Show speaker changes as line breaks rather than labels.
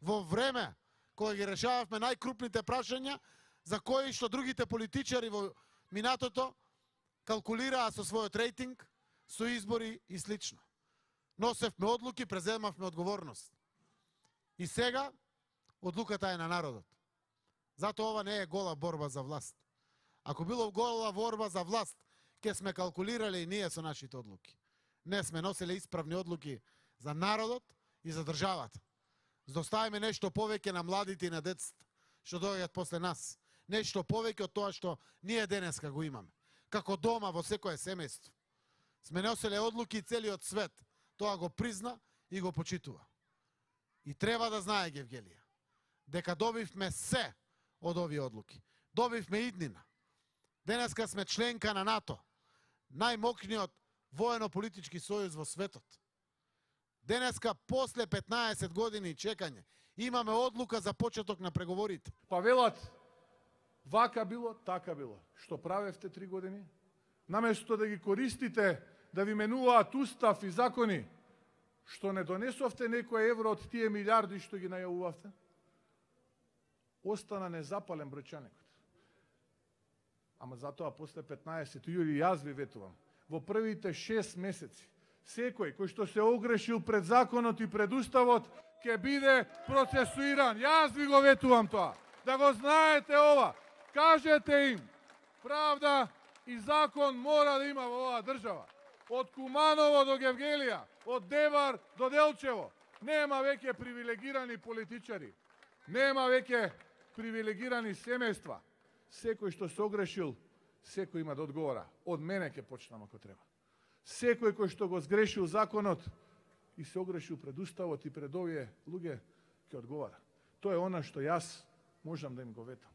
во време кога ги решававме најкрупните прашања за кои што другите политичари во минатото калкулираа со својот рейтинг, со избори и слично. Носевме одлуки, преземавме одговорност. И сега одлуката е на народот. Затоа ова не е гола борба за власт. Ако било гола борба за власт, ќе сме калкулирале и ние со нашите одлуки. Не сме носиле исправни одлуки за народот и за државата. За да оставиме нешто повеќе на младите и на децата што доаѓаат после нас. Нешто повеќе од тоа што ние денеска го имаме. Како дома во секое семејство. Сме носиле одлуки и целиот свет тоа го призна и го почитува. И треба да знае Гевгелија дека добивме се од овие одлуки. Добивме иднина. Денеска сме членка на НАТО, најмокниот воено-политички сојуз во светот. Денеска, после 15 години чекање, имаме одлука за почеток на преговорите.
Па велат, вака било, така било. Што правевте 3 години? Наместо да ги користите, да ви менуваат устав и закони, што не донесовте некој евро од тие милиарди што ги најавувавте, остана незапален бројчаникот. Ама затоа после 15 јули јас ви ветувам, во првите 6 месеци, секој кој што се огрешил пред законот и пред уставот, ќе биде процесуиран. Јас ви го ветувам тоа. Да го знаете ова. Кажете им, правда и закон мора да има во оваа држава. Од Куманово до Гевгелија, од Девар до Делчево. Нема веќе привилегирани политичари. Нема веќе привилегирани семејства. Секој што се огрешил, секој има да одговора. Од мене ќе почнам ако треба. Секој кој што го сгрешил законот и се огрешил пред уставот и пред овие луѓе, ќе одговара. Тоа е она што јас можам да им го ветам.